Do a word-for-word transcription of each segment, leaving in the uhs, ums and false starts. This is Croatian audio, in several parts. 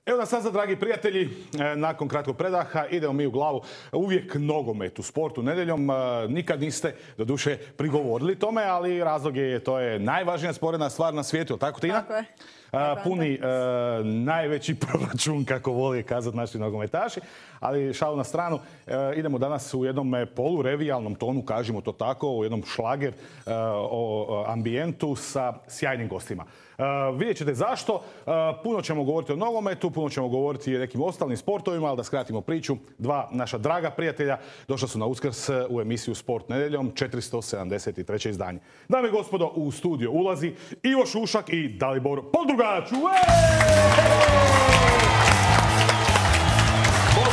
Evo nas sad, dragi prijatelji, nakon kratkog predaha idemo mi u glavu. Uvijek nogomet u sportu nedjeljom. Nikad niste, doduše, prigovorili tome, ali razlog je, to je najvažnija sporedna stvar na svijetu, tako Tina? Tako je. Puni uh, najveći proračun, kako voli kazati naši nogometaši. Ali šalu na stranu, uh, idemo danas u jednom polurevijalnom tonu, kažemo to tako, u jednom šlager uh, o ambijentu sa sjajnim gostima. Uh, vidjet ćete zašto. Uh, puno ćemo govoriti o nogometu, puno ćemo govoriti i o nekim ostalim sportovima, ali da skratimo priču. Dva naša draga prijatelja došla su na Uskrs u emisiju Sport nedjeljom, četiristo sedamdeset treće izdanje. Dame i gospodo, u studio ulazi Ivo Šušak i Dalibor Poldrugač. Bog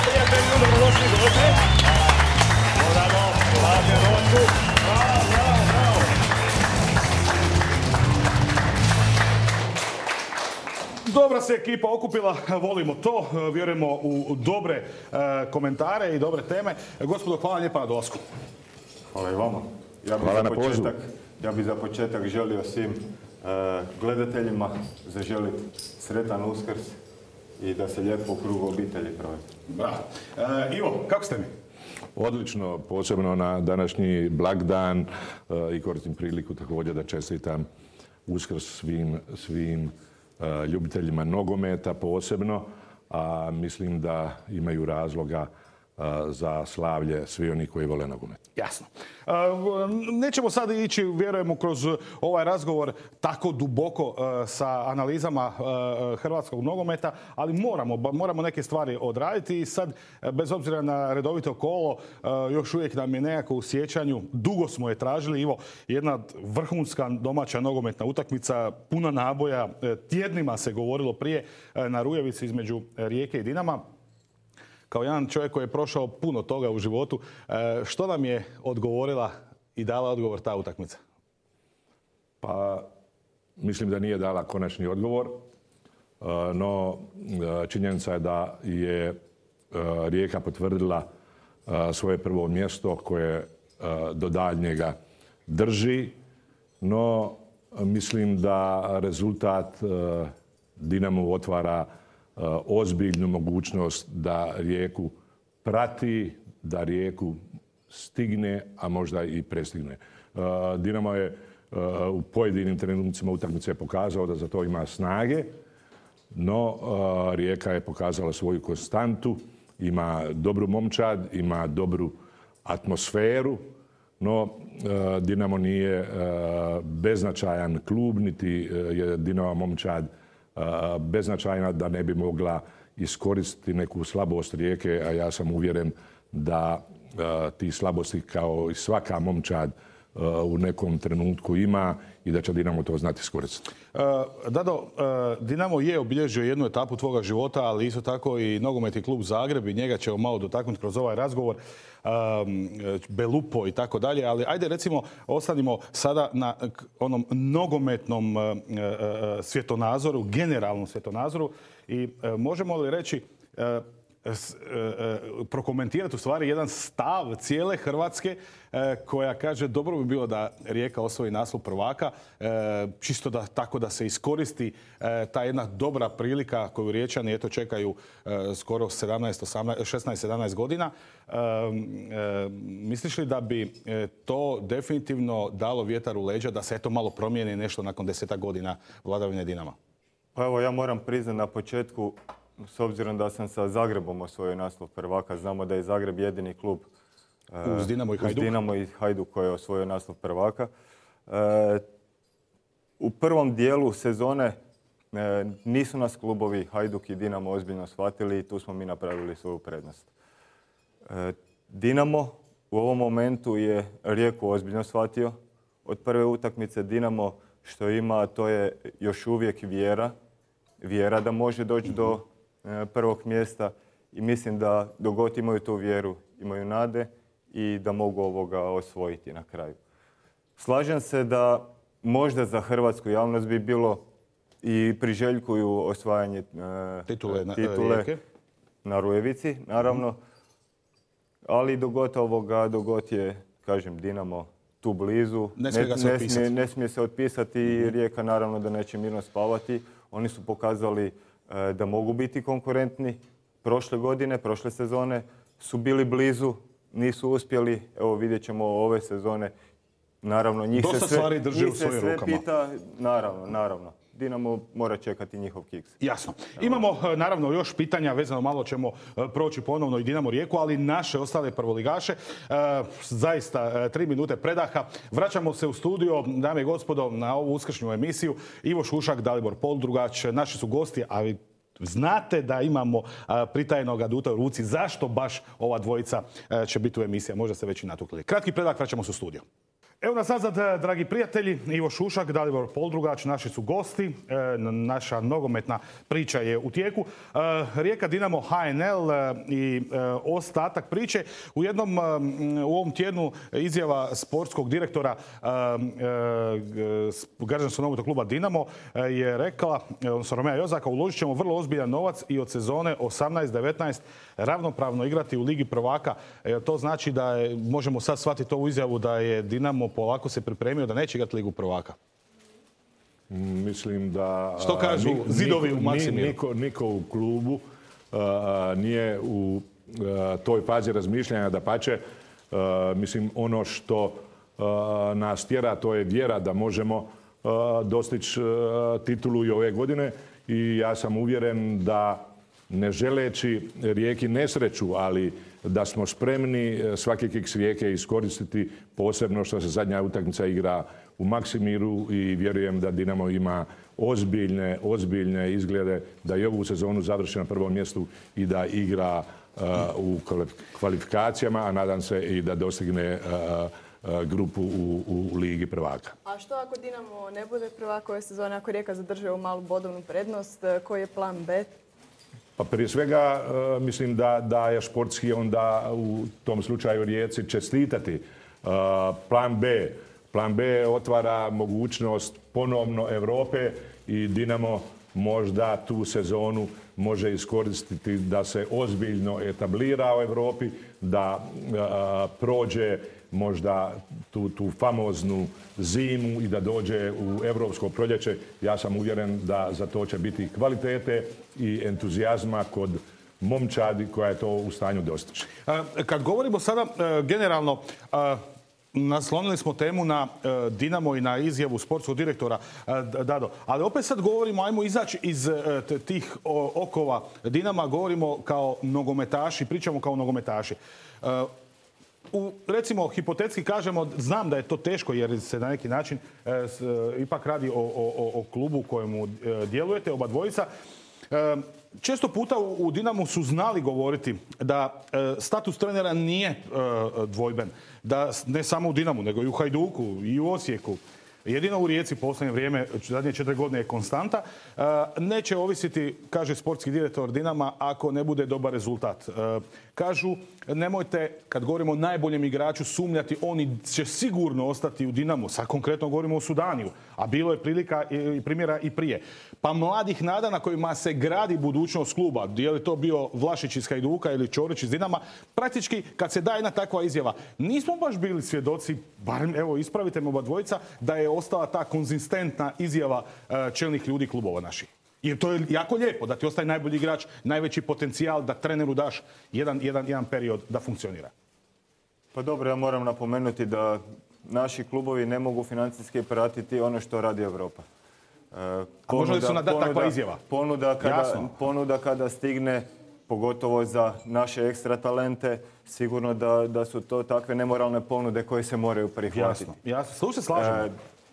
prijatelji, dobrodošli, dođe. Bravo, hladnje ročku. Bravo, bravo, bravo. Dobra se ekipa okupila, volimo to, vjerujemo u dobre komentare i dobre teme. Gospodo, hvala lijepa na dolasku. Hvala i vama. Ja bih za početak, ja bih za početak želio svim gledateljima zaželiti sretan Uskrs i da se lijepo u krugu obitelji provede. Bravo. E, Ivo, kako ste mi? Odlično, posebno na današnji blagdan i koristim priliku također da čestitam Uskrs svim, svim ljubiteljima nogometa posebno, a mislim da imaju razloga za slavlje svi oni koji vole nogomet. Jasno. Nećemo sad ići, vjerujemo, kroz ovaj razgovor tako duboko sa analizama hrvatskog nogometa, ali moramo, moramo neke stvari odraditi i sad, bez obzira na redovito kolo, još uvijek nam je nekako u sjećanju, dugo smo je tražili, Ivo, jedna vrhunska domaća nogometna utakmica, puna naboja, tjednima se govorilo prije na Rujevici između Rijeke i Dinama. Kao jedan čovjek koji je prošao puno toga u životu, što nam je odgovorila i dala odgovor ta utakmica? Pa, mislim da nije dala konačni odgovor, no činjenica je da je Rijeka potvrdila svoje prvo mjesto koje do daljnjega drži, no mislim da rezultat Dinamu otvara ozbiljnu mogućnost da Rijeku prati, da Rijeku stigne, a možda i prestigne. Dinamo je u pojedinim trenucima utakmice pokazao da za to ima snage, no Rijeka je pokazala svoju konstantu, ima dobru momčad, ima dobru atmosferu, no Dinamo nije beznačajan klub, niti je Dinamo momčad beznačajna da ne bi mogla iskoristiti neku slabost Rijeke, a ja sam uvjeren da ti slabosti kao i svaka momčad u nekom trenutku ima i da će Dinamo to znati iskoristiti. Dado, Dinamo je obilježio jednu etapu tvoga života, ali isto tako i nogometni klub Zagreb i njega ćemo malo dotaknuti kroz ovaj razgovor. Belupo i tako dalje, ali ajde recimo ostanimo sada na onom nogometnom svjetonazoru, generalnom svjetonazoru i možemo li reći, prokomentirati u stvari jedan stav cijele Hrvatske koja kaže dobro bi bilo da Rijeka osvoji naslov prvaka, čisto da tako da se iskoristi ta jedna dobra prilika koju Riječani eto čekaju skoro šesnaest sedamnaest godina. Misliš li da bi to definitivno dalo vjetar u leđa da se eto malo promijeni nešto nakon desetak godina vladavine Dinama? Pa evo, ja moram priznati na početku, s obzirom da sam sa Zagrebom osvojio naslov prvaka, znamo da je Zagreb jedini klub uz Dinamo i Hajduk, uz Dinamo i Hajduk koji je osvojio naslov prvaka. U prvom dijelu sezone nisu nas klubovi Hajduk i Dinamo ozbiljno shvatili i tu smo mi napravili svoju prednost. Dinamo u ovom momentu je Rijeku ozbiljno shvatio. Od prve utakmice Dinamo što ima, to je još uvijek vjera. Vjera da može doći do prvog mjesta i mislim da dok god imaju tu vjeru, imaju nade i da mogu ovoga osvojiti na kraju. Slažem se da možda za hrvatsku javnost bi bilo i priželjkuju osvajanje e, titule, na, titule na Rujevici, naravno. Ali dok god ovoga, dok god je, kažem, Dinamo tu blizu, ne smije, ne, ne smije, ne smije se otpisati i Rijeka naravno da neće mirno spavati. Oni su pokazali da mogu biti konkurentni. Prošle godine, prošle sezone su bili blizu, nisu uspjeli. Evo vidjet ćemo ove sezone. Naravno, njih Dosta se sve, stvari drži njih u se svojim sve rukama. pita. Naravno, naravno. Dinamo mora čekati njihov kiks. Jasno. Imamo naravno još pitanja, vezano malo ćemo proći ponovno i Dinamo Rijeku, ali naše ostale prvoligaše. Zaista tri minute predaha. Vraćamo se u studio, dame i gospodo, na ovu uskršnju emisiju. Ivo Šušak, Dalibor Poldrugač, naši su gosti, a vi znate da imamo pritajenog aduta u ruci. Zašto baš ova dvojica će biti u emisiji? Možda ste već i natukli. Kratki predah, vraćamo se u studio. Evo nas nazad, dragi prijatelji, Ivo Šušak, Dalibor Poldrugač, naši su gosti, naša nogometna priča je u tijeku. Rijeka, Dinamo, H N L i ostatak priče. U jednom, u ovom tjednu izjava sportskog direktora građanskog nogometnog kluba Dinamo je rekla, odnosno Romea Jozaka, uložit ćemo vrlo ozbiljan novac i od sezone osamnaest devetnaest ravnopravno igrati u Ligi prvaka. To znači da je, možemo sad shvatiti ovu izjavu da je Dinamo polako se pripremio da neće igrati Ligu prvaka. Mislim da... Što kažu niko, zidovi u Maksimiru? Niko, niko u klubu uh, nije u uh, toj fazi razmišljanja, dapače. Uh, mislim, ono što uh, nas tjera, to je vjera da možemo uh, dostići uh, titulu i ove godine. I ja sam uvjeren da, ne želeći Rijeki nesreću, ali da smo spremni svaki kiks Rijeke iskoristiti, posebno što se zadnja utakmica igra u Maksimiru, i vjerujem da Dinamo ima ozbiljne, ozbiljne izglede da i ovu sezonu završi na prvom mjestu i da igra uh, u kvalifikacijama, a nadam se i da dostigne uh, uh, grupu u, u Ligi prvaka. A što ako Dinamo ne bude prvak ove sezone, ako Rijeka zadrži ovu malu bodovnu prednost, koji je plan B? Pa prije svega uh, mislim da, da je športski onda u tom slučaju Rijeci čestitati. Uh, plan B. Plan B otvara mogućnost ponovno Europe i Dinamo možda tu sezonu može iskoristiti da se ozbiljno etablira u Europi, da uh, prođe možda tu, tu famoznu zimu i da dođe u europsko proljeće. Ja sam uvjeren da za to će biti kvalitete i entuzijazma kod momčadi koja je to u stanju dostići. Kad govorimo sada generalno, naslonili smo temu na Dinamo i na izjavu sportskog direktora Dado. Ali opet sad govorimo, ajmo izaći iz tih okova Dinama, govorimo kao nogometaši, pričamo kao nogometaši. U, recimo, hipotetski kažemo, znam da je to teško jer se na neki način e, s, e, ipak radi o, o, o klubu u kojemu e, djelujete, oba dvojica. E, često puta u, u Dinamu su znali govoriti da e, status trenera nije e, dvojben. Da ne samo u Dinamu, nego i u Hajduku i u Osijeku. Jedino u Rijeci posljednje vrijeme, zadnje četiri godine je konstanta. E, neće ovisiti, kaže sportski direktor Dinama, ako ne bude dobar rezultat. E, kažu, nemojte, kad govorimo o najboljem igraču, sumnjati, oni će sigurno ostati u Dinamu. Sad konkretno govorimo o Sudaniju, a bilo je prilika i primjera i prije. Pa mladih nada na kojima se gradi budućnost kluba, je li to bio Vlašić iz Hajduka ili Ćorić iz Dinama, praktički kad se daje jedna takva izjava, nismo baš bili svjedoci, barem evo ispravite me oba dvojica, da je ostala ta konzistentna izjava čelnih ljudi klubova naših. Jer to je jako lijepo da ti ostaje najbolji igrač, najveći potencijal da treneru daš jedan, jedan, jedan period da funkcionira. Pa dobro, ja moram napomenuti da naši klubovi ne mogu financijski pratiti ono što radi Europa. E, ponuda, A može li su nam dati takva izjava? Ponuda kada, ponuda kada stigne, pogotovo za naše ekstra talente, sigurno da, da su to takve nemoralne ponude koje se moraju prihvatiti. Jasno, jasno. Tu se slažemo. E,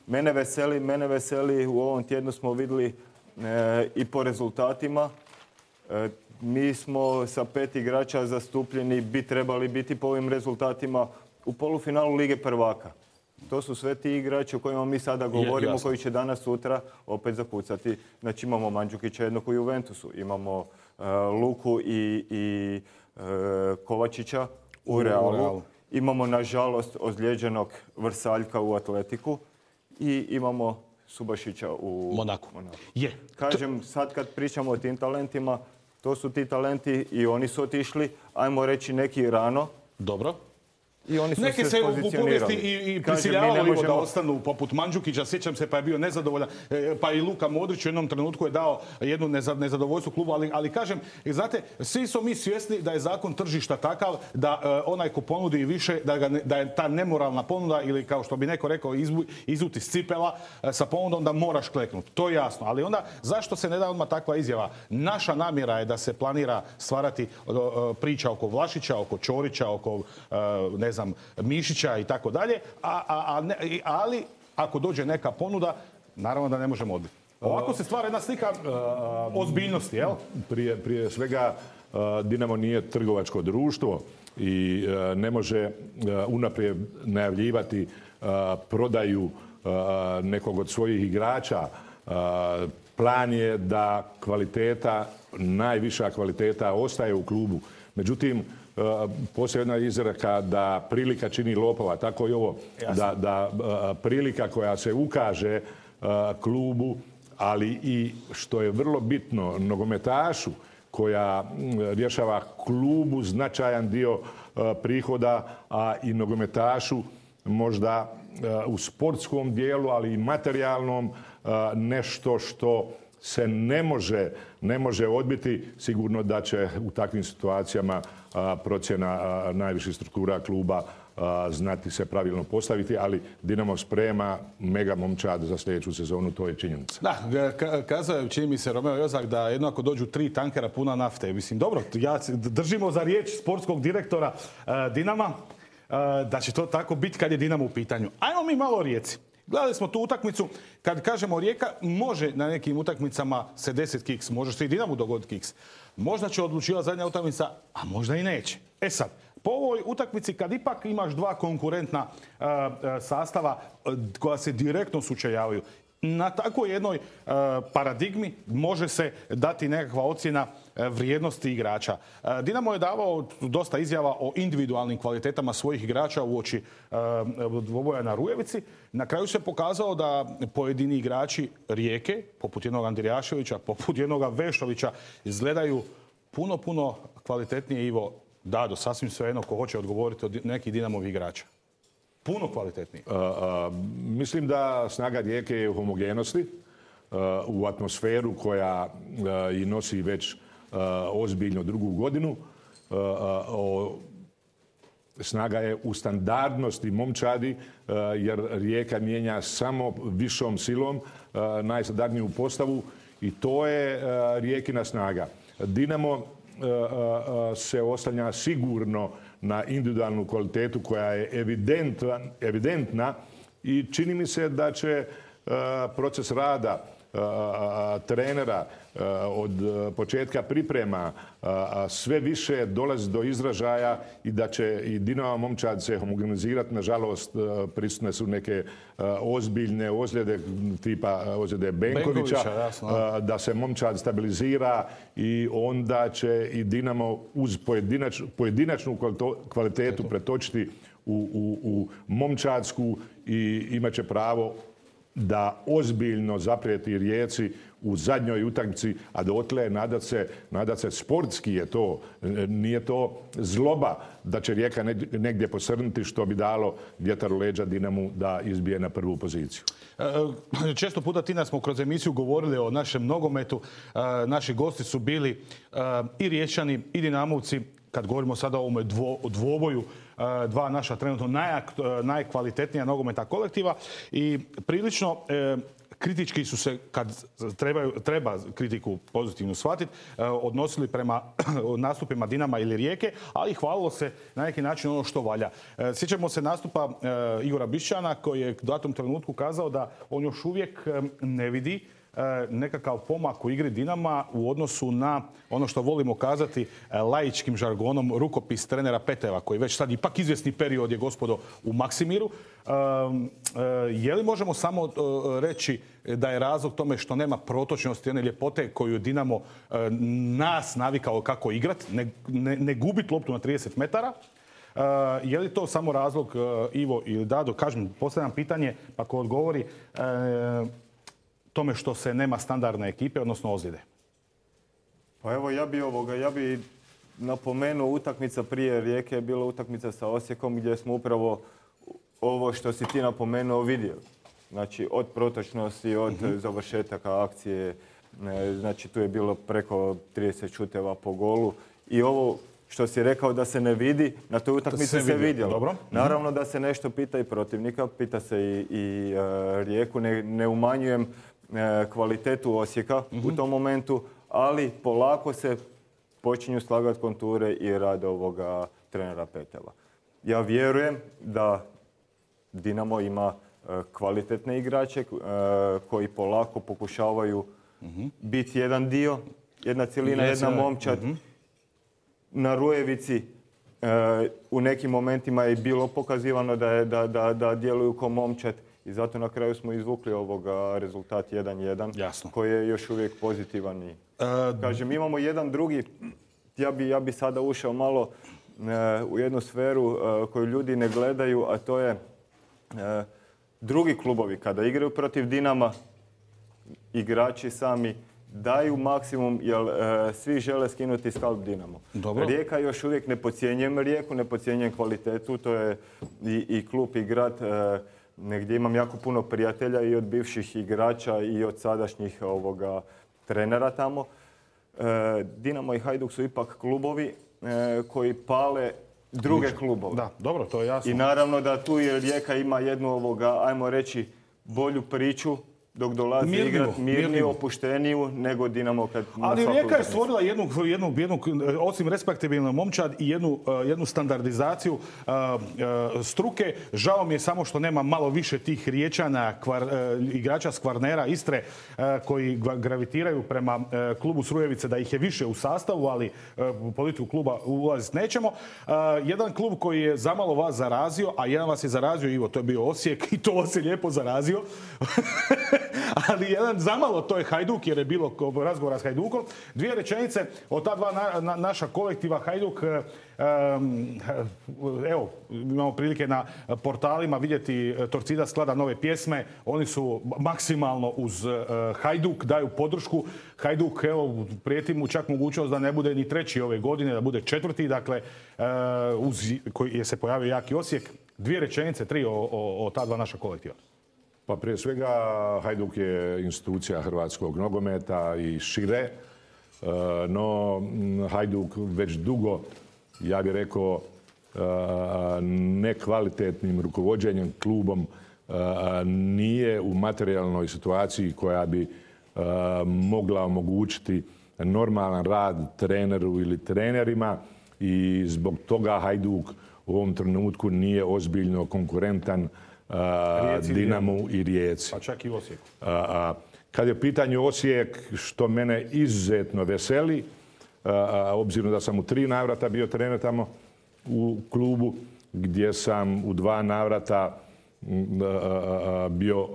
mene veseli, mene veseli, u ovom tjednu smo vidjeli E, i po rezultatima. E, mi smo sa pet igrača zastupljeni, bi trebali biti po ovim rezultatima u polufinalu Lige prvaka. To su sve ti igrači o kojima mi sada govorimo, je, koji će danas, sutra opet zakucati. Znači imamo Mandžukića jednog u Juventusu, imamo e, Luku i, i e, Kovačića u, u Realu. Realu. Imamo, nažalost, ozlijeđenog Vrsaljka u Atletiku i imamo Subašića u Monaku. Monaku. Je. Kažem, sad kad pričamo o tim talentima, to su ti talenti i oni su otišli, ajmo reći neki rano. Dobro. I oni su Neki se se u pozicionirali. povijesti i, i Kažem, prisiljavalo mi ne Ivo da možemo- ostanu poput Mandžukića, sjećam se pa je bio nezadovoljan, e, pa i Luka Modrić u jednom trenutku je dao jednu neza- nezadovoljstvo klubu, ali, ali kažem, i znate, svi smo mi svjesni da je zakon tržišta takav da e, onaj ko ponudi više, da, ga ne- da je ta nemoralna ponuda ili kao što bi neko rekao izbu, izuti iz cipela e, sa ponudom da moraš kleknuti. To je jasno, ali onda zašto se ne da odmah takva izjava? Naša namjera je da se planira stvarati e, priča oko Vlašića, oko Ćorića, oko e, ne znam, Mišića i tako dalje, a, a, a ne- i- ali ako dođe neka ponuda, naravno da ne možemo odbiti. Ovako se stvara jedna slika ozbiljnosti, jel? Prije, prije svega uh, Dinamo nije trgovačko društvo i uh, ne može uh, unaprijed najavljivati uh, prodaju uh, nekog od svojih igrača. Uh, plan je da kvaliteta, najviša kvaliteta ostaje u klubu. Međutim, uh, postoji jedna izreka da prilika čini lopova, tako i ovo, da, da uh, prilika koja se ukaže uh, klubu, ali i što je vrlo bitno, nogometašu koja mm, rješava klubu značajan dio e, prihoda, a i nogometašu možda e, u sportskom dijelu, ali i materijalnom e, nešto što se ne može, ne može odbiti. Sigurno da će u takvim situacijama a, procjena a, najviših struktura kluba a, znati se pravilno postaviti, ali Dinamo sprema mega momčad za sljedeću sezonu, to je činjenica. Da, ka- kazao je, čini mi se, Romeo Jozak da jedno ako dođu tri tankera puna nafte. Mislim, dobro, ja se- držimo za riječ sportskog direktora e, Dinama e, da će to tako biti kad je Dinamo u pitanju. Ajmo mi malo o Rijeci. Gledali smo tu utakmicu, kad kažemo Rijeka, može na nekim utakmicama se deset kiks, može se i Dinamu dogoditi kiks. Možda će odlučivati zadnja utakmica, a možda i neće. E sad, po ovoj utakmici kad ipak imaš dva konkurentna e, e, sastava e, koja se direktno sučeljavaju, na takvoj jednoj e, paradigmi može se dati nekakva ocjena e, vrijednosti igrača. E, Dinamo je davao dosta izjava o individualnim kvalitetama svojih igrača uoči e, dvoboja na Rujevici. Na kraju se pokazalo da pojedini igrači Rijeke, poput jednog Andrijaševića, poput jednog Vešovića, izgledaju puno, puno kvalitetnije. Ivo, Dado, sasvim svejedno ko hoće odgovoriti od nekih Dinamovih igrača. Puno kvalitetniji. A, a, mislim da snaga Rijeke je u homogenosti, a, u atmosferu koja a, i nosi već a, ozbiljno drugu godinu. A, a, o, snaga je u standardnosti momčadi, a, jer Rijeka mijenja samo višom silom a, najstandardniju postavu i to je a, Rijekina snaga. Dinamo a, a, se oslanja sigurno na individualnu kvalitetu koja je evidentna, evidentna i čini mi se da će e, proces rada e, trenera e, od početka priprema e, sve više dolazi do izražaja i da će i Dinamo momčad se homogenizirati. Nažalost, e, prisutne su neke e, ozbiljne ozljede tipa ozljede Benkovića, Benkovića, jasno, da. e, da se momčad stabilizira i onda će i Dinamo uz pojedinač, pojedinačnu kvalito- kvalitetu pretočiti u, u, u momčadsku i imat će pravo da ozbiljno zaprijeti Rijeci u zadnjoj utakmici, a dotle nadat se, nadat se sportski je to. Nije to zloba da će Rijeka negdje posrnuti što bi dalo vjetar u leđa Dinamu da izbije na prvu poziciju. E, Često puta, Tina, smo kroz emisiju govorili o našem nogometu. E, Naši gosti su bili e, i Riječani i Dinamovci. Kad govorimo sada o ovome dvo, o dvoboju, e, dva naša trenutno najak, najkvalitetnija nogometa kolektiva i prilično e, kritički su se, kad trebaju, treba kritiku pozitivno shvatiti, e, odnosili prema nastupima Dinama ili Rijeke, ali hvalilo se na neki način ono što valja. E, Sjećamo se nastupa e, Igora Bišćana koji je u datom trenutku kazao da on još uvijek e, ne vidi nekakav pomak u igri Dinama u odnosu na ono što volimo kazati laičkim žargonom rukopis trenera Peteva, koji već sad ipak izvjesni period je, gospodo, u Maksimiru. Je li možemo samo reći da je razlog tome što nema protočnosti, one ljepote koju Dinamo nas navikao kako igrati, ne, ne, ne gubiti loptu na trideset metara? Uh, je li to samo razlog, uh, Ivo ili Dado? Kažem, postavljam pitanje, pa ko odgovori, uh, tome što se nema standardne ekipe, odnosno ozljede. Pa evo, ja bi ovoga, ja bi napomenuo, utakmica prije Rijeke je bila utakmica sa Osijekom gdje smo upravo ovo što si ti napomenuo vidjeli. Znači, od protočnosti, od uh-huh. završetaka akcije, znači tu je bilo preko trideset šuteva po golu. I ovo što si rekao da se ne vidi, na toj utakmici se, se vidjelo. Dobro. Naravno da se nešto pita i protivnika, pita se i, i uh, Rijeku. Ne, ne umanjujem uh, kvalitetu Osijeka uh-huh. u tom momentu, ali polako se počinju slagati konture i rad ovoga trenera Petela. Ja vjerujem da Dinamo ima uh, kvalitetne igrače uh, koji polako pokušavaju uh-huh. biti jedan dio, jedna cjelina, jedna momčad. Uh-huh. Na Rujevici uh, u nekim momentima je bilo pokazivano da, je, da, da, da djeluju kao momčad i zato na kraju smo izvukli ovoga rezultat jedan jedan koji je još uvijek pozitivan. I, uh, kažem, imamo jedan drugi, ja bi, ja bi sada ušao malo uh, u jednu sferu uh, koju ljudi ne gledaju, a to je uh, drugi klubovi kada igraju protiv Dinama, igrači sami daju maksimum jer uh, svi žele skinuti skalp Dinamo. Dobro. Rijeka još uvijek ne podcjenjujem Rijeku, ne podcjenjujem kvalitetu, to je i, i klub i grad uh, negdje imam jako puno prijatelja i od bivših igrača i od sadašnjih ovoga trenera tamo. Uh, Dinamo i Hajduk su ipak klubovi uh, koji pale druge klubove. Da, dobro, to je jasno. I naravno da tu je Rijeka ima jednu ovoga, ajmo reći, bolju priču dok dolazi igrati mirniju, opušteniju nego Dinamo kad... Ali Rijeka je stvorila jednu, jednu, jednu, osim respektabilnu momčad i jednu, jednu standardizaciju uh, uh, struke. Žao mi je samo što nema malo više tih Riječana, kvar, uh, igrača s Kvarnera, Istre, uh, koji gravitiraju prema uh, klubu Srujevice, da ih je više u sastavu, ali uh, u politiku kluba ulaziti nećemo. Uh, jedan klub koji je zamalo vas zarazio, a jedan vas je zarazio, Ivo, to je bio Osijek i to vas je lijepo zarazio. Ali jedan zamalo, to je Hajduk, jer je bilo razgovora s Hajdukom. Dvije rečenice od ta dva na, na, naša kolektiva Hajduk. Um, evo, imamo prilike na portalima vidjeti Torcida sklada nove pjesme. Oni su maksimalno uz uh, Hajduk, daju podršku. Hajduk, evo, prijeti mu čak mogućnost da ne bude ni treći ove godine, da bude četvrti. Dakle, uh, uz koji je se pojavio jaki Osijek. Dvije rečenice, tri o, o, o ta dva naša kolektiva. Pa prije svega Hajduk je institucija hrvatskog nogometa i šire, no Hajduk već dugo, ja bih rekao, nekvalitetnim rukovođenjem klubom nije u materijalnoj situaciji koja bi mogla omogućiti normalan rad treneru ili trenerima i zbog toga Hajduk u ovom trenutku nije ozbiljno konkurentan Rijeci, Dinamu i Rijeci. Pa čak i Osijeku. Kad je u pitanju Osijek, što mene izuzetno veseli, a, obzirom da sam u tri navrata bio trener tamo u klubu, gdje sam u dva navrata a, a, bio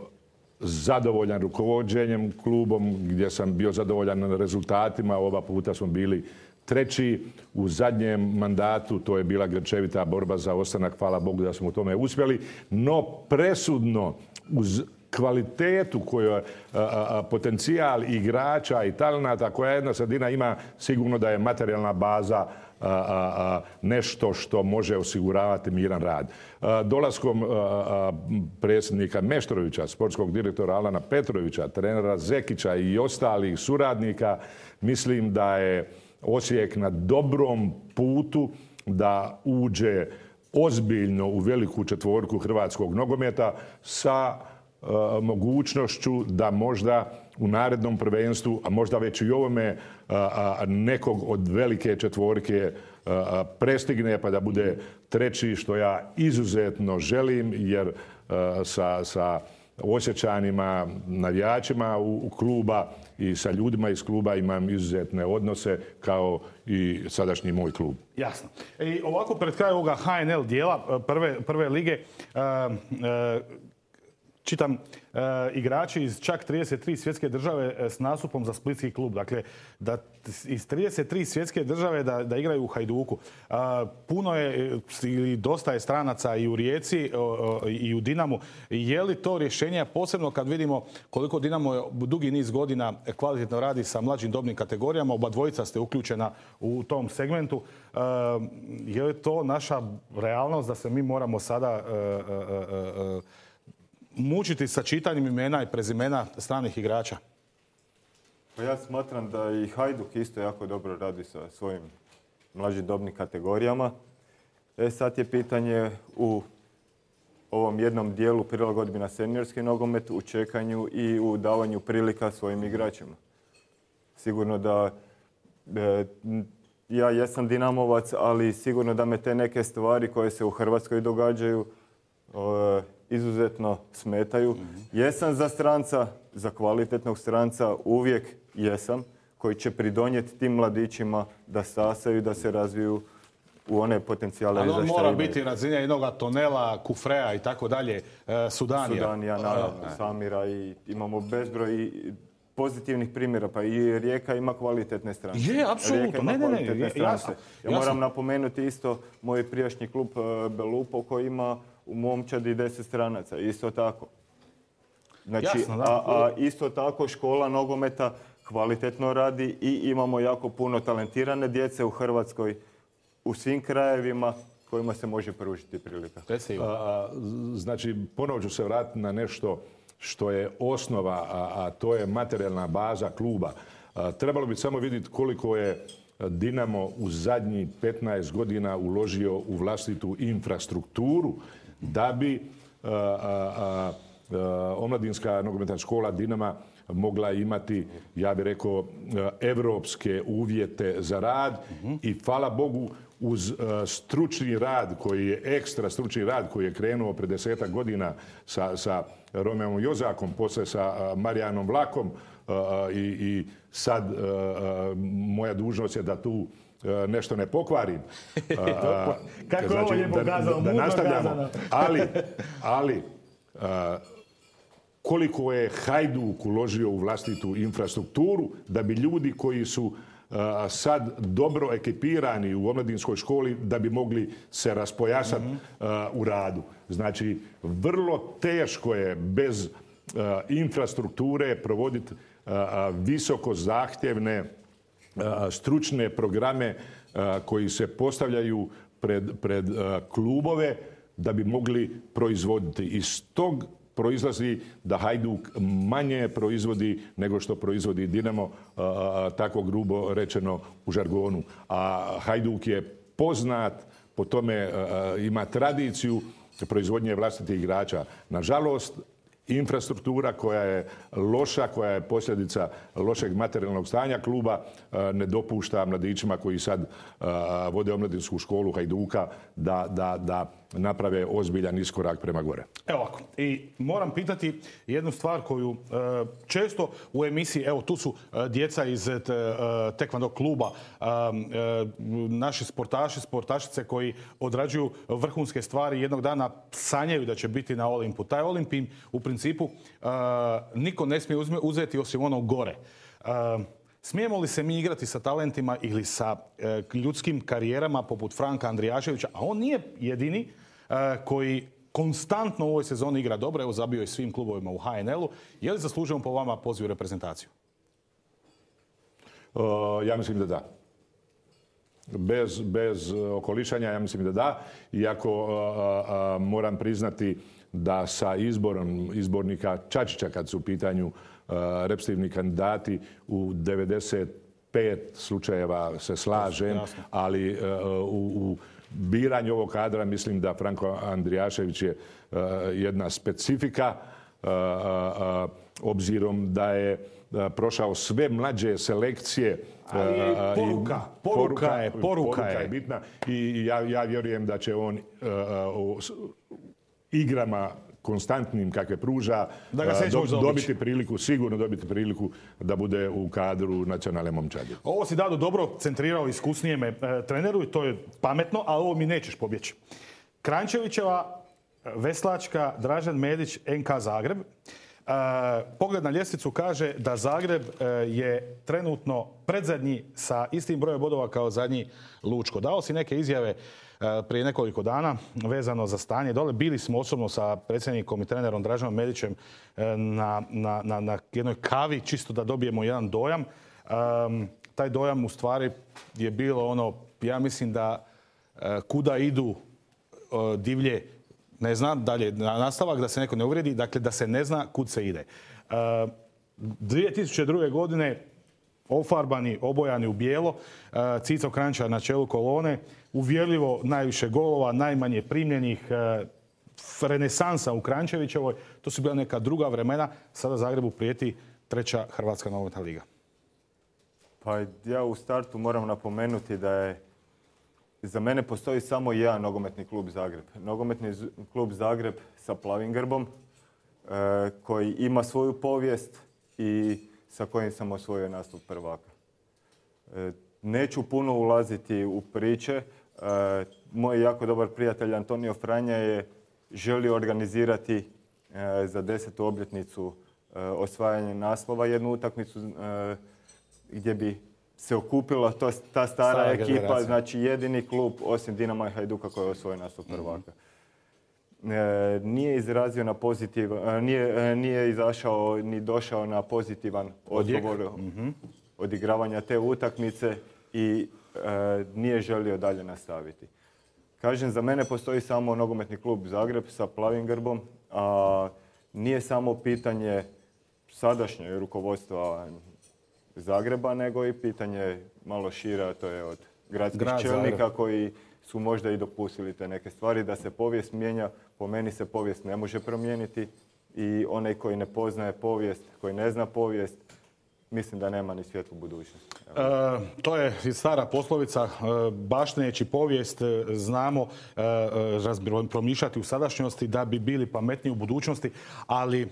zadovoljan rukovođenjem klubom, gdje sam bio zadovoljan rezultatima. Oba puta smo bili treći. U zadnjem mandatu to je bila grčevita borba za ostanak, hvala Bogu da smo u tome uspjeli, no presudno uz kvalitetu koju a, a, potencijal igrača i talenata koja jedna sredina ima, sigurno da je materijalna baza a, a, nešto što može osiguravati miran rad. A, dolaskom a, a, predsjednika Meštrovića, sportskog direktora Alana Petrovića, trenera Zekića i ostalih suradnika, mislim da je Osijek na dobrom putu da uđe ozbiljno u veliku četvorku hrvatskog nogometa sa uh, mogućnošću da možda u narednom prvenstvu, a možda već i ovome, uh, uh, nekog od velike četvorke uh, prestigne pa da bude treći, što ja izuzetno želim, jer uh, sa, sa Osječanima, navijačima u, u kluba i sa ljudima iz kluba imam izuzetne odnose kao i sadašnji moj klub. Jasno. I ovako pred kraj ovoga H N L dijela prve, prve lige, uh, uh, čitam e, igrači iz čak trideset tri svjetske države e, s nastupom za splitski klub. Dakle, da iz trideset tri svjetske države da, da igraju u Hajduku. E, puno je ili dosta je stranaca i u Rijeci o, o, i u Dinamu. Je li to rješenje, posebno kad vidimo koliko Dinamo dugi niz godina kvalitetno radi sa mlađim dobnim kategorijama, oba dvojica ste uključena u tom segmentu. E, je li to naša realnost da se mi moramo sada e, e, e, mučiti sa čitanjem imena i prezimena stranih igrača? Pa ja smatram da i Hajduk isto jako dobro radi sa svojim mlađim dobnim kategorijama. E sad je pitanje u ovom jednom dijelu prilagodbi na seniorski nogomet, u čekanju i u davanju prilika svojim igračima. Sigurno da e, ja jesam Dinamovac, ali sigurno da me te neke stvari koje se u Hrvatskoj događaju e, izuzetno smetaju. Mm-hmm. Jesam za stranca, za kvalitetnog stranca, uvijek jesam, koji će pridonijeti tim mladićima da stasaju, da se razviju u one potencijale. Ali on mora biti razina jednog Tonela, Kufrea i tako dalje, Sudanija. Sudanija, naravno, Samira i imamo bezbroj pozitivnih primjera, pa i Rijeka ima kvalitetne strance. Je, apsolutno. Ne, ne, ne. Jasno, ja moram jasno. napomenuti isto moj prijašnji klub Belupo koji ima u momčadi deset stranaca, isto tako. Znači, jasno, a, a isto tako škola nogometa kvalitetno radi i imamo jako puno talentirane djece u Hrvatskoj, u svim krajevima kojima se može pružiti prilika. A, znači, ponovo ću se vratiti na nešto što je osnova, a, a to je materijalna baza kluba. A, trebalo bi samo vidjeti koliko je Dinamo u zadnjih petnaest godina uložio u vlastitu infrastrukturu da bi a, a, a, omladinska nogometna škola Dinama mogla imati, ja bih rekao, evropske uvjete za rad. Uh-huh. I hvala Bogu uz uh, stručni rad koji je ekstra stručni rad koji je krenuo pred desetak godina sa, sa Romeom Jozakom, poslije sa uh, Marijanom Vlakom uh, i, i sad uh, uh, moja dužnost je da tu uh, nešto ne pokvarim. Uh, Kako znači, ovo je pokazao, da, da nastavljamo. Ali, ali uh, koliko je Hajduk uložio u vlastitu infrastrukturu da bi ljudi koji su uh, sad dobro ekipirani u omladinskoj školi da bi mogli se raspojasati mm-hmm. uh, u radu. Znači, vrlo teško je bez uh, infrastrukture provoditi uh, visoko zahtjevne uh, stručne programe uh, koji se postavljaju pred, pred uh, klubove da bi mogli proizvoditi. Iz tog proizlazi da Hajduk manje proizvodi nego što proizvodi Dinamo, a, tako grubo rečeno u žargonu. A Hajduk je poznat, po tome a, ima tradiciju proizvodnje vlastitih igrača. Nažalost, infrastruktura koja je loša, koja je posljedica lošeg materijalnog stanja kluba, ne dopušta mladićima koji sad vode omladinsku školu Hajduka da, da, da naprave ozbiljan iskorak prema gore. Evo ovako, i moram pitati jednu stvar koju e, često u emisiji, evo tu su e, djeca iz e, tekvando kluba, e, e, naši sportaši, sportašice koji odrađuju vrhunske stvari, jednog dana sanjaju da će biti na Olimpu. Taj Olimp im u principu e, niko ne smije uzeti osim onog gore. E, Smijemo li se mi igrati sa talentima ili sa e, ljudskim karijerama poput Franka Andrijaševića, a on nije jedini e, koji konstantno u ovoj sezoni igra dobro, evo zabio je svim klubovima u ha en el u. Je li zaslužujemo po vama poziv u reprezentaciju? Uh, ja mislim da da. Bez, bez okolišanja ja mislim da da. Iako uh, uh, moram priznati da sa izborom izbornika Čačića kad su u pitanju uh, reprezentativni kandidati u devedeset pet slučajeva se slažem, jasno. Ali uh, u, u biranju ovog kadra mislim da Franko Andrijašević je uh, jedna specifika uh, uh, obzirom da je uh, prošao sve mlađe selekcije. Ali je poruka, poruka, poruka je, poruka, poruka je. je bitna i ja, ja vjerujem da će on uh, uh, igrama konstantnim kakve pruža da ga do, dobiti priliku, sigurno dobiti priliku da bude u kadru nacionalne momčadi. Ovo si Dado dobro centrirao iskusnijeme e, treneru i to je pametno, ali ovo mi nećeš pobjeći. Kranjčevićeva Veslačka, Dražen Medić, N K Zagreb. Pogled na ljestvicu kaže da Zagreb je trenutno predzadnji sa istim brojem bodova kao zadnji Lučko. Dao si neke izjave prije nekoliko dana vezano za stanje dole. Bili smo osobno sa predsjednikom i trenerom Draženom Medićem na, na, na, na jednoj kavi, čisto da dobijemo jedan dojam. Um, taj dojam u stvari je bilo ono, ja mislim da uh, kuda idu uh, divlje, ne znam, dalje nastavak, da se neko ne uvrijedi, dakle da se ne zna kud se ide. Uh, dvije tisuće druge. godine ofarbani, obojani u bijelo, uh, Cico Kranjčar na čelu kolone, uvjerljivo najviše golova, najmanje primljenih, uh, renesansa u Kranjčevićevoj. To su bila neka druga vremena. Sada Zagrebu prijeti treća Hrvatska nogometna liga. Pa ja u startu moram napomenuti da je za mene postoji samo jedan nogometni klub Zagreb. Nogometni klub Zagreb sa plavim grbom e, koji ima svoju povijest i sa kojim sam osvojio nastup prvaka. E, neću puno ulaziti u priče. E, moj jako dobar prijatelj Antonio Franja je želio organizirati e, za desetu obljetnicu e, osvajanja naslova jednu utakmicu e, gdje bi se okupila to, ta stara, stara ekipa, generacija. Znači jedini klub osim Dinama i Hajduka koji je osvojio nastup prvaka. Mm-hmm. E, nije izrazio na pozitivan, nije, nije izašao ni došao na pozitivan odgovor mm-hmm. odigravanja te utakmice i e, nije želio dalje nastaviti. Kažem, za mene postoji samo nogometni klub Zagreb sa plavim grbom, a nije samo pitanje sadašnjeg rukovodstva Zagreba, nego i pitanje malo šire, a to je od gradskih Grad čelnika Zagreb. Koji su možda i dopustili te neke stvari. Da se povijest mijenja, po meni se povijest ne može promijeniti i onaj koji ne poznaje povijest, koji ne zna povijest, mislim da nema ni svjetlu budućnost. E, to je stara poslovica, e, bašteneći povijest znamo e, promišljati u sadašnjosti da bi bili pametniji u budućnosti, ali e,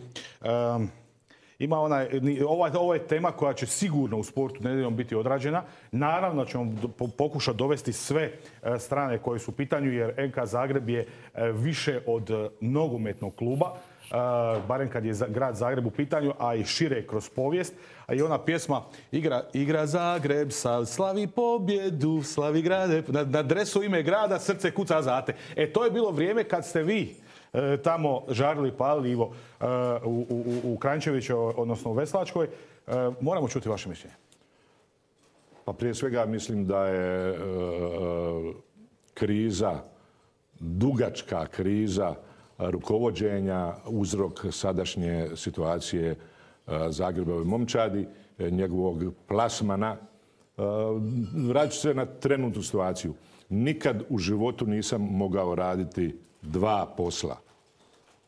Ima onaj, ova, ovo je tema koja će sigurno u sportu nedjeljom biti odrađena. Naravno ćemo pokušati dovesti sve strane koje su u pitanju, jer N K Zagreb je više od nogometnog kluba, barem kad je grad Zagreb u pitanju, a i šire kroz povijest. A i ona pjesma Igra, igra Zagreb, slavi pobjedu, slavi grade, na, na dresu ime grada, srce kuca zate. E, to je bilo vrijeme kad ste vi tamo žarili, palili, Ivo, u, u, u Kranjčeviću, odnosno u Veslačkoj. Moramo čuti vaše mišljenje. Pa prije svega mislim da je e, kriza, dugačka kriza rukovođenja uzrok sadašnje situacije e, Zagrebove momčadi, e, njegovog plasmana. E, Vraću se na trenutnu situaciju. Nikad u životu nisam mogao raditi dva posla.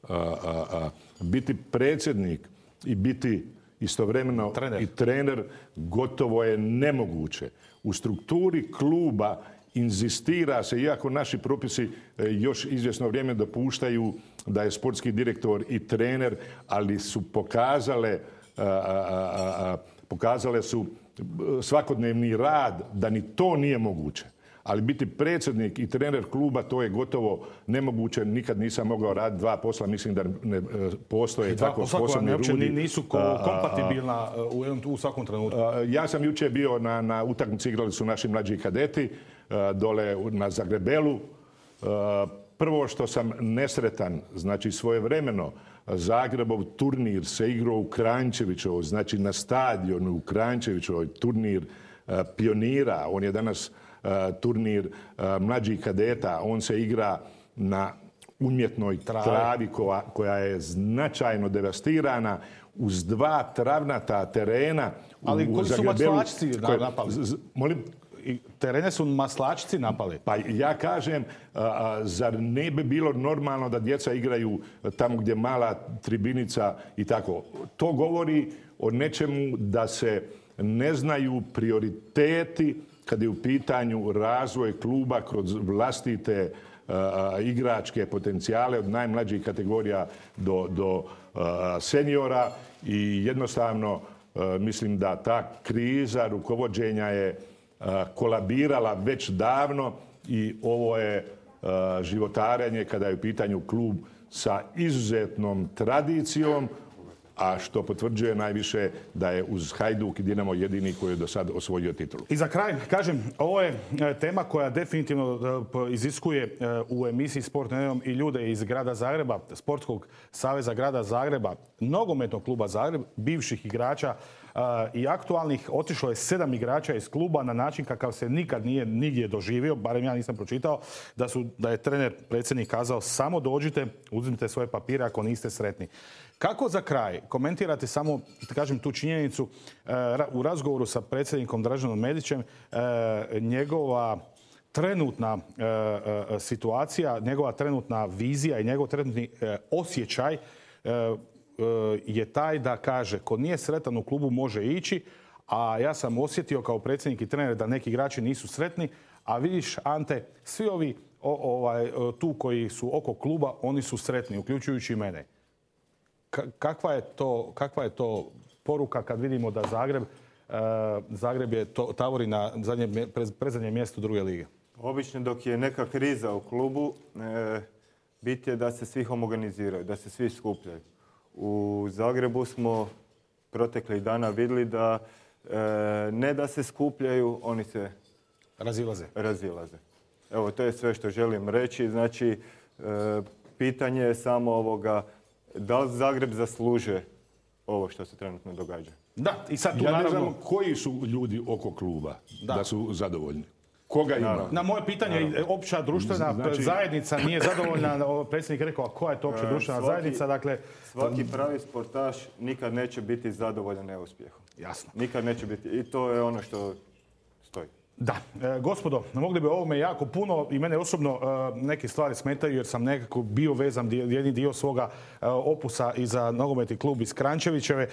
A, a, a, biti predsjednik i biti istovremeno trener. i trener gotovo je nemoguće. U strukturi kluba inzistira se, iako naši propisi još izvjesno vrijeme dopuštaju da je sportski direktor i trener, ali su pokazale, a, a, a, pokazale su svakodnevni rad da ni to nije moguće. Ali biti predsjednik i trener kluba, to je gotovo nemoguće. Nikad nisam mogao raditi dva posla. Mislim da ne postoje dva tako sposobni ljudi. Dva posla nisu kompatibilna u, u svakom trenutku. Ja sam jučer bio na, na utakmici, igrali su naši mlađi kadeti dole na Zagrebelu. Prvo što sam nesretan, znači svojevremeno, Zagrebov turnir se igrao u Kranjčevićevoj, znači na stadionu u Kranjčevićevoj, turnir pionira. On je danas turnir mlađih kadeta. On se igra na umjetnoj travi, travi koja, koja je značajno devastirana uz dva travnata terena. Ali u koji su maslačci napali? Molim? Terene su maslačci napali. Pa ja kažem, a, zar ne bi bilo normalno da djeca igraju tamo gdje mala tribinica i tako? To govori o nečemu da se ne znaju prioriteti kad je u pitanju razvoj kluba kroz vlastite a, igračke potencijale od najmlađih kategorija do, do a, seniora i jednostavno a, mislim da ta kriza rukovođenja je a, kolabirala već davno i ovo je životarenje, kada je u pitanju klub sa izuzetnom tradicijom, a što potvrđuje najviše da je uz Hajduk i Dinamo jedini koji je do sad osvojio titulu. I za kraj, kažem, ovo je tema koja definitivno iziskuje u emisiji Sport nedjeljom i ljude iz grada Zagreba, Sportskog saveza grada Zagreba, nogometnog kluba Zagreb, bivših igrača i aktualnih. Otišlo je sedam igrača iz kluba na način kakav se nikad nije nigdje doživio, barem ja nisam pročitao, da, su, da je trener, predsjednik kazao samo dođite, uzmite svoje papire ako niste sretni. Kako za kraj komentirate samo, da kažem, tu činjenicu u razgovoru sa predsjednikom Draženom Medićem, njegova trenutna situacija, njegova trenutna vizija i njegov trenutni osjećaj je taj da kaže ko nije sretan u klubu može ići, a ja sam osjetio kao predsjednik i trener da neki igrači nisu sretni, a vidiš, Ante, svi ovi o, ovaj, tu koji su oko kluba, oni su sretni, uključujući i mene. Kakva je to, kakva je to poruka kad vidimo da Zagreb, uh, Zagreb je to, tavori na zadnje, predzadnje mjesto druge lige? Obično dok je neka kriza u klubu, e, bit je da se svi homogeniziraju, da se svi skupljaju. U Zagrebu smo proteklih dana vidjeli da e, ne da se skupljaju, oni se razilaze. razilaze. Evo, to je sve što želim reći. Znači, e, pitanje je samo ovoga da li Zagreb zasluže ovo što se trenutno događa. Da, i sad tu ja naravno... ne znam koji su ljudi oko kluba da, da su zadovoljni. Koga ima? Naravno. Na moje pitanje, naravno. Opća društvena znači... zajednica nije zadovoljna. Predsjednik je rekao, a koja je to opća društvena svaki, zajednica? Dakle, svaki pravi sportaš nikad neće biti zadovoljan neuspjehom. Jasno. Nikad neće biti. I to je ono što stoji. Da, e, gospodo, mogli bi o ovome jako puno i mene osobno e, neke stvari smetaju jer sam nekako bio vezan dio, jedni dio svoga e, opusa i za nogometni klub iz Kranjčevićeve. E,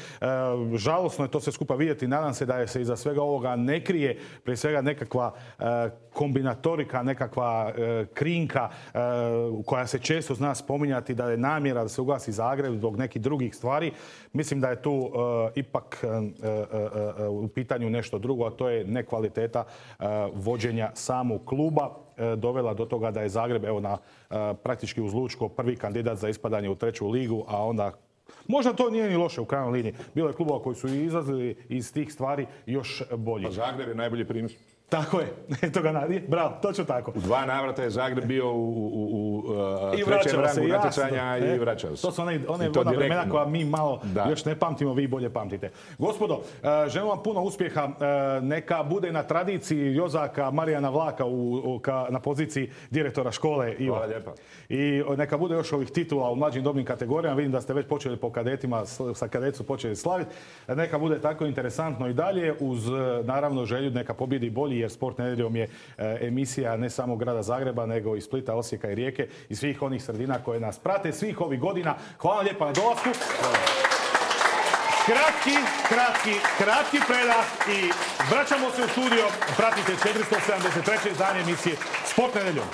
žalosno je to sve skupa vidjeti. Nadam se da je se iza svega ovoga ne krije prije svega nekakva e, kombinatorika, nekakva e, krinka e, koja se često zna spominjati da je namjera da se ugasi Zagreb zbog nekih drugih stvari. Mislim da je tu e, ipak e, e, e, u pitanju nešto drugo, a to je nekvaliteta vođenja samog kluba dovela do toga da je Zagreb evo na praktički uz Lučko prvi kandidat za ispadanje u treću ligu, a onda možda to nije ni loše u krajnjoj liniji. Bilo je klubova koji su izlazili iz tih stvari još bolji. A Zagreb je najbolji primjer. Tako je, eto ga nadje. Bravo, točno tako. U dva navrata je Zagreb bio u, u, u uh, I trećem rangu se, natjecanja i e, vraćao se. To su one, one ona vremena koja mi malo da. još ne pamtimo, vi bolje pamtite. Gospodo, uh, želim vam puno uspjeha. Uh, neka bude na tradiciji Jozaka Marijana Vlaka u, u, ka, na poziciji direktora škole. Ivo. Hvala lijepa. I neka bude još ovih titula u mlađim dobnim kategorijama. Vidim da ste već počeli po kadetima, sa kadecu počeli slaviti. Neka bude tako interesantno i dalje uz naravno želju neka pobjedi bolji jer Sport nedjeljom je emisija ne samo grada Zagreba, nego i Splita, Osijeka i Rijeke i svih onih sredina koje nas prate svih ovih godina. Hvala lijepa na dolasku. Kratki, kratki, kratki predah i vraćamo se u studio. Pratite četiristo sedamdeset treće izdanje emisije Sport nedjeljom.